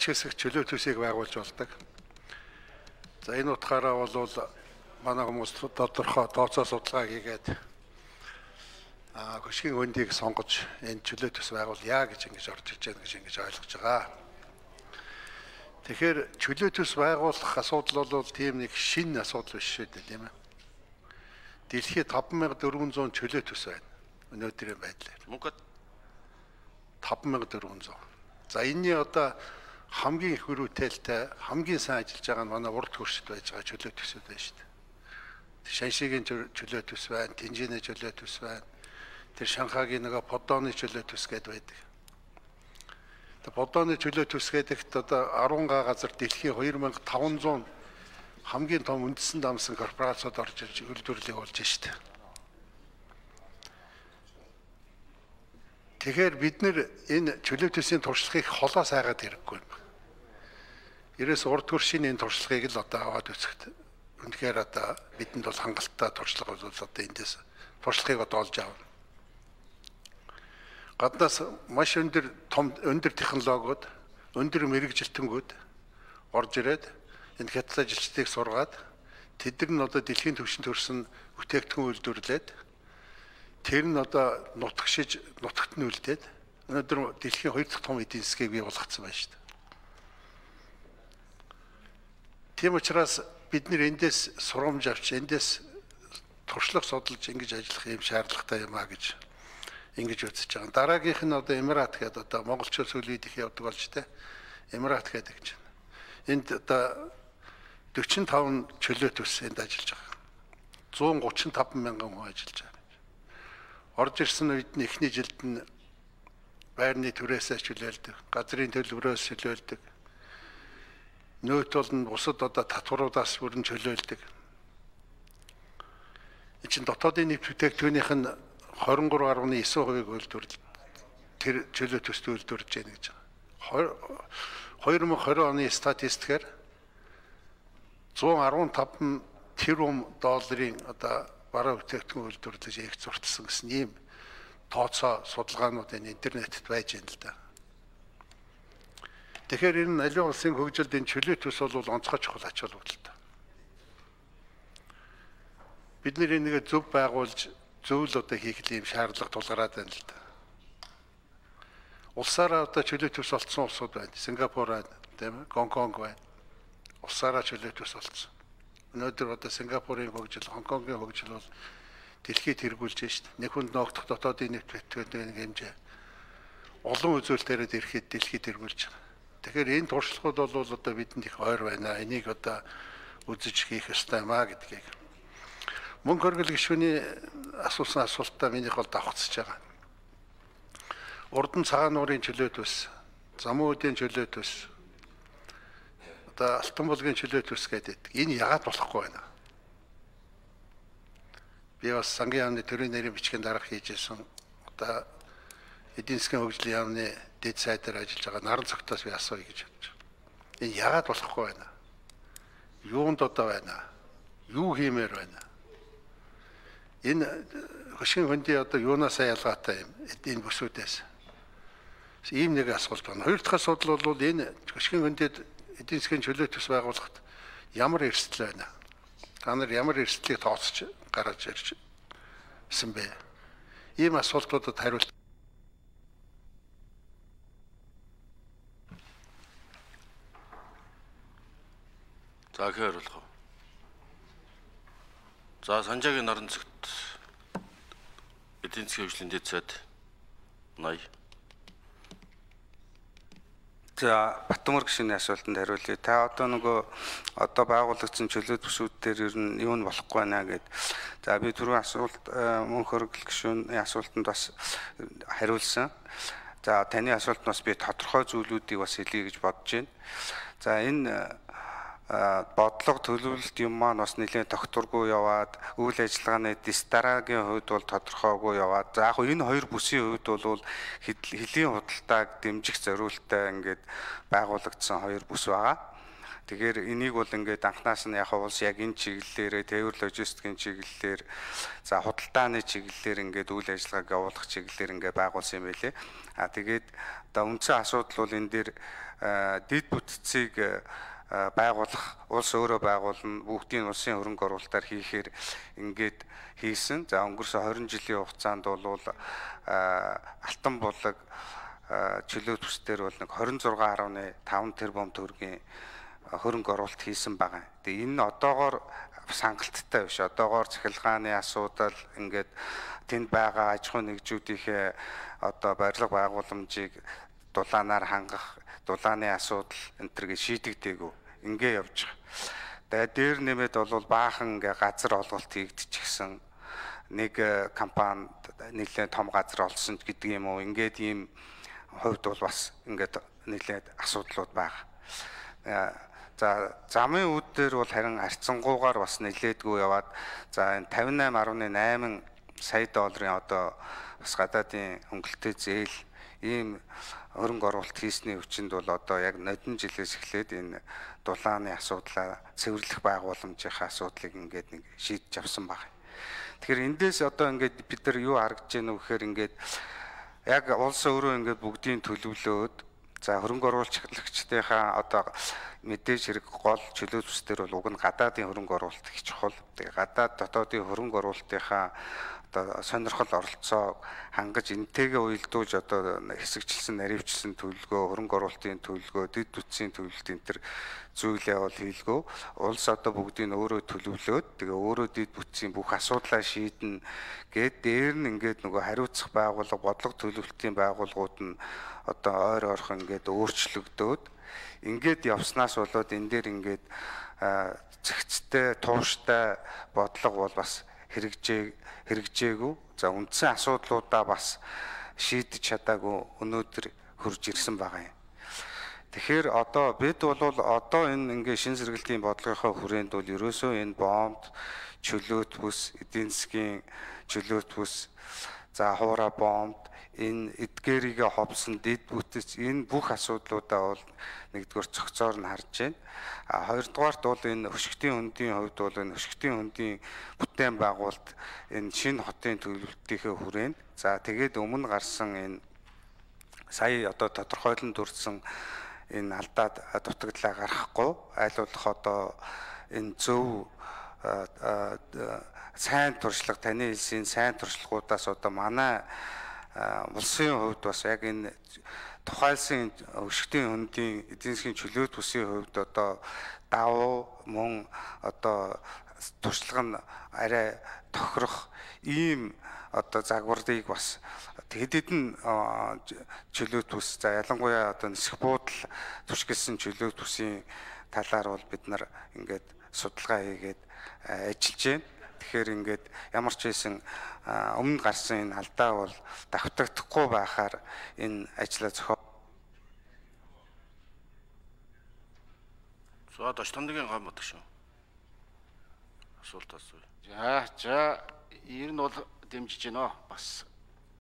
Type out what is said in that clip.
ач хэсэг чөлөө төсийг байгуулж болдог. За энэ утгаараа бол манай хүмүүс тодорхой тооцоо судалгаа хийгээд хөшгийн хөндийг сонгож энэ чөлөө төс байгуулъя гэж ингэж орж иж байгаа гэж ингэж ойлгож байгаа. Тэгэхээр чөлөө төс байгуулах асуудал бол тийм нэг шинэ асуудал биш шүү дээ, тийм ээ. Дэлхийд 5400 чөлөө төс байна. Өнөөдрийн байдлаар. Мөнгөд 5400. За энэний одоо хамгийн их хүрээтэй, хамгийн сайн ажиллаж байгаа нь манай урд хөршид байж байгаа чөлөө төсөд байна шүү дээ. Шаншигийн чөлөө төс байна, Тэнжээний чөлөө төс байна. Тэр Шанхагийн нэг Подооны чөлөө төс гэдээ байдаг. Тэр Подооны чөлөө төс гэдэгт одоо 10 газар дэлхийн 2500 хамгийн том үндэстэн дамсан корпорациуд орж ирж үйлдвэрлэлийг болж штэ. Тэгэхээр бид нэр энэ чөлөө төсийн туршлагыг холоос хайгаад хэрэггүй юм. Ерөөс урд хөршийн энэ туршлагыг л одоо аваад үзэхэд үнэхээр одоо бидэнд бол хангалттай туршлага бол одоо эндээс туршлагыг одоо олж авна. Гаднаас маш өндөр технологиуд, өндөр мэрэгжилтэнгүүд орж ирээд энэ хятад ажилчдыг сургаад тэд нар нь одоо дэлхийн түвшинд төрсэн бүтээгдэхүүн үйлдвэрлээд тэр нь одоо нутагт нь үлдээд өнөөдөр дэлхийн 2 дахь том эдийн засгийг бий болгоцсон байна шүү дээ. Тийм учраас бид нэр эндээс сурамж авч эндээс туршлага судалж ингэж ажиллах юм шаардлагатай юм а гэж ингэж үзэж байгаа. Дараагийнх нь одоо Эмират гэдэг одоо монголчууд сүүлийн үед их явдаг болж тэ. Эмират гэдэг гэж байна. Энд одоо 45 чөлөө төс энд ажиллаж байгаа. 135 мянган хүн ажиллаж байгаа. Орж ирсэн үед нь эхний жилд нь байрны түрээсээ чөлөөлдөг, газрын төлбөрөөс чөлөөлдөг. Нөөт бол нь бусад одоо татваруудаас бүрэн чөлөөлдөг. Энэ чинь дотоодын нийт бүтээгдэхүүнийх нь 23.9% үйлдвэрлэл тэр чөлөө төсд үйлдвэрлэж байна гэж байгаа. 2020 оны статистикээр 115 тэрбум долларын одоо бараа бүтээгдэхүүн үйлдвэрлэж их зуртсан гэсэн ийм тооцоо судалгаанууд энэ интернетэд байж байна л да. Тэгэхээр энэ аливаа улсын хөгжилд энэ чөлөө төс бол онцгой чухал ач холбогдолтой. Бид нэр энийг зөв байгуулж зөвл одоо хийх юм шаардлага тулгараад байна л да. Улсаараа одоо чөлөө төс олцсон улсууд байна. Сингапур байна, тийм ээ, Гонконг байна. Улсаараа чөлөө төс олцсон. Өнөөдөр одоо Сингапурын хөгжил, Хонконгийн хөгжил бол дэлхийд тэргүүлж байна шүү дээ. Нэг хүнд ногдох дотоодын нийт бүтээгдэхүүний хэмжээ олон үзүүлэлтээр ирэхэд дэлхийд тэргүүлж байгаа. Тэгэхээр энэ туршлагууд бол одоо бидэнд их ойр байна. Энийг одоо үзэж хийх ёстой юм а гэдгийг. Мөнгө хөргөл гишүүний асуусан асуултаа минийх бол давхцаж байгаа. Урдан цагаан нуурын чөлөө төс, замун үдийн чөлөө төс, одоо алтан булгийн чөлөө төс гэдэг. Энэ яагаад болохгүй байна? Би бас сангийн яамны төрийн нэрийн бичгийн дарга хийж исэн. Одоо эдийн засгийн хөгжлийн яамны дэд сайдаар ажиллаж байгаа наран цогтоос би асууя гэж бодож байна. Энэ яагаад болохгүй байна? Юунд одоо байна? Юу хиймээр байна? Энэ хөшгийн хөндий одоо юунаас ялгаатай юм? Энэ бүсүүдээс. Ийм нэг асуулт байна. Хоёр дахь асуудал бол энэ хөшгийн хөндөд эдийн засгийн чөлөө төс байгуулахад ямар эрсдэл байна? Та нар ямар эрсдлийг тооцож гаргаж ирсэн бэ? Ийм асуултуудад хариулт. За хариулах уу. За Санжаагийн наран цагт эдийн засгийн хөгжлийн дэд сайд 80. За Батмөр гишүүний асуултанд хариулъя. Та одоо нөгөө одоо байгуулагдсан чөлөө төсүүд дээр ер нь юу нь болохгүй байна гэд. За би түрүү асуулт мөнх хөргөл гишүүний асуултанд бас хариулсан. За таны асуултанд бас би тодорхой зүйлүүдийг бас хэлье гэж бодож байна. За энэ бодлого төлөвлөлт юм маань бас нэлээд тогтворгүй яваад үйл ажиллагааны дараагийн хувьд бол тодорхойгүй яваад за яг энэ хоёр бүсийн хувьд бол хэлийн худалдааг дэмжих зорилттой ингээд байгуулагдсан хоёр бүс байгаа. Тэгэхээр энийг бол ингээд анхнаас нь яг улс яг энэ чиглэлээрээ тээвэр логистикийн чиглэлээр за худалдааны чиглэлээр ингээд үйл ажиллагааг явуулах чиглэлээр ингээд байгуулсан юм байлээ. Тэгээд одоо үндсэн асуудал бол энэ дээр дэд бүтцийг байгуулах, улс өөрөө байгуулна, бүгдийн улсын хөрөнгө оруулалтаар хийхээр ингээд хийсэн. За өнгөрсөн 20 жилийн хугацаанд бол Алтан булаг чөлөө төсдөр бол нэг 26.5 тэрбум төгрөгийн хөрөнгө оруулалт хийсэн байгаа. Тэгээ энэ одоогоор сангалттай биш. Одоогоор цахилгааны асуудал ингээд тэнд байгаа аж ахуй нэгжүүдийнхээ одоо барилга байгууламжийг дулаанаар хангах, дулааны асуудал энэ төргээ шийдэгдээгүй ингээ явж байгаа. Тэгээд дээр нэмээд бол баахан ингээ газар олголт хийгдчихсэн. Нэг компанид нэлээд том газар олсон гэдэг юм уу. Ингээд ийм хувьд бол бас ингээд нэлээд асуудлууд байгаа. За замын үүд дээр бол харин арцсангуугаар бас нэлээдгүй яваад за энэ 58.8 сая долларын одоо бас гадаадын хөнгөлөлтөө зээл ийм хөрөнгө оруулалт хийсний хүчинд бол одоо яг нодон жилээс эхлээд энэ дулааны асуудлаа цэвэрлэх байгууламжийнхаа асуудлыг ингээд нэг шийдэж авсан байна. Тэгэхээр эндээс одоо ингээд бид нар юу харагдаж байна вэ гэхээр ингээд яг улс өөрөө ингээд бүгдийн төлөвлөөд за хөрөнгө оруулагчдынхаа одоо мэдээж хэрэг гол чөлөө төсдөр бол уг нь гадаадын хөрөнгө оруулалт их чухал. Тэгээ гадаад дотоодын хөрөнгө оруулалтынхаа одоо сонирхол оролцоог хангаж энтэйгээ уялдуулж одоо хэсэгчлсэн, наривчилсан төлөвлөгөө, хөрөнгө оруулалтын төлөвлөгөө, дэд бүтцийн төлөвлөлт энэ төр зүйлээ бол хийлгөө. Улс одоо бүгдийг өөрөө төлөвлөөд тэгээ өөрөө дэд бүтцийн бүх асуудлаа шийднэ гэд дээр нь ингээд нөгөө хариуцах байгууллага, бодлого төлөвлөлтийн байгууллагууд нь одоо ойр ойрхон ингээд өөрчлөгдөөд ингээд явснаас болоод энэ дээр ингээд зэгцтэй, тууштай бодлого бол бас хэрэгжээгүй. За үндсэн асуудлуудаа бас шийдэж чадаагүй өнөөдөр хурж ирсэн байгаа юм. Тэгэхээр одоо бид бол одоо энэ ингээ шин сэргэлтийн бодлогынхаа хүрээнд бол ерөөсөө энэ бомб, чөлөөт бүс, эдийн засгийн чөлөөт бүс, за хуура бомб, энэ эдгээрийгээ ховсон дэд бүтц энэ бүх асуудлуудаа бол нэгдүгээр цогцоор нь харж байна. Хоёрдугаарт бол энэ хөшгтийн хөндийн хувьд бол энэ хөшгтийн хөндийн бүтээн байгуулалт энэ шинэ хотын төлөвлөлтийнхээ хүрээнд за тэгээд өмнө гарсан энэ сая одоо тодорхойлон дүрсэн энэ алдаад дутагдлаа гаргахгүй аль болох одоо энэ зөв сайн туршлага таны хэлсийн сайн туршлагуудаас одоо манай улсын хувьд бас яг энэ тухайлсан өшгтийн хөндийн эдийн засгийн чөлөөт бүсийн хувьд одоо давуу мөн одоо туршлага нь арай тохирох ийм одоо загварыг бас хэдэн чөлөөт бүс за ялангуяа одоо нисэх буудал туршилсан чөлөөт бүсийн талаар бол бид нар ингээд судалгаа хийгээд ажиллаж байна. Тэгэхээр ингээд ямар ч байсан өмнө гарсан энэ алдаа бол давтагдахгүй байхаар энэ ажлаа зохио. За Дочтонгийн гам бодог шүү. Асуулт асууя. За ер нь бол дэмжиж байна. Бас